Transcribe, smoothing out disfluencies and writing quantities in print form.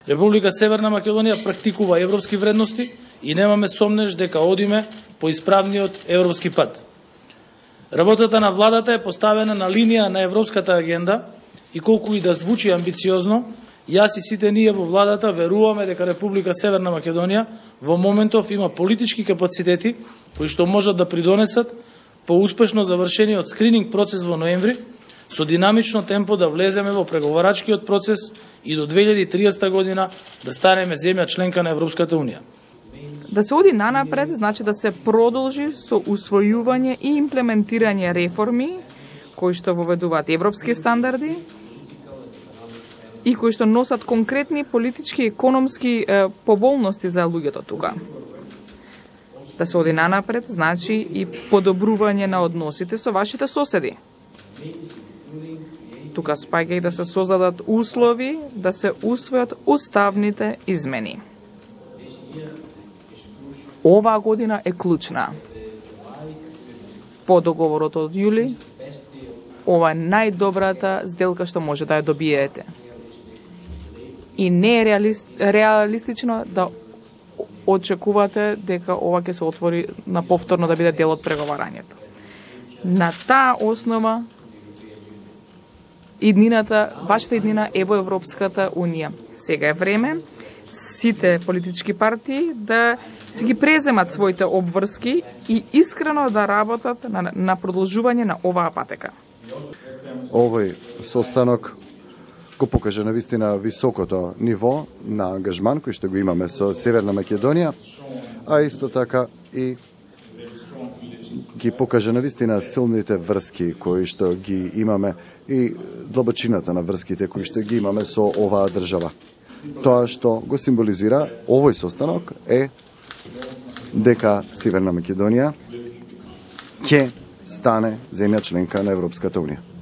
Република Северна Македонија практикува европски вредности и немаме сомнеж дека одиме по исправниот европски пат. Работата на владата е поставена на линија на европската агенда и колку и да звучи амбициозно, јас и сите ние во владата веруваме дека Република Северна Македонија во моментов има политички капацитети кои што можат да придонесат по успешно завршениот скрининг процес во ноември, со динамично темпо да влеземе во преговарачкиот процес и до 2030 година да станеме земја членка на Европската Унија. Да се оди нанапред значи да се продолжи со усвојување и имплементирање реформи кои што воведуваат европски стандарди и кои што носат конкретни политички и економски поволности за луѓето тука. Да се оди нанапред значи и подобрување на односите со вашите соседи. Тука спаѓа и да се создадат услови да се усвојат уставните измени. Оваа година е клучна. По договорот од јули, ова е најдобрата сделка што може да ја добиете. И не е реалистично да очекувате дека ова ќе се отвори на повторно да биде дел од преговарањето. На таа основа вашата иднина е во Европската Унија. Сега е време сите политички партии да си ги преземат своите обврски и искрено да работат на продолжување на оваа патека. Овој состанок го покажа навистина високото ниво на ангажман кој што го имаме со Северна Македонија, а исто така и ги покажа навистина силните врски кои што ги имаме и длабочината на врските кои што ги имаме со оваа држава. Тоа што го символизира овој состанок е дека Северна Македонија ќе стане земја членка на Европската Унија.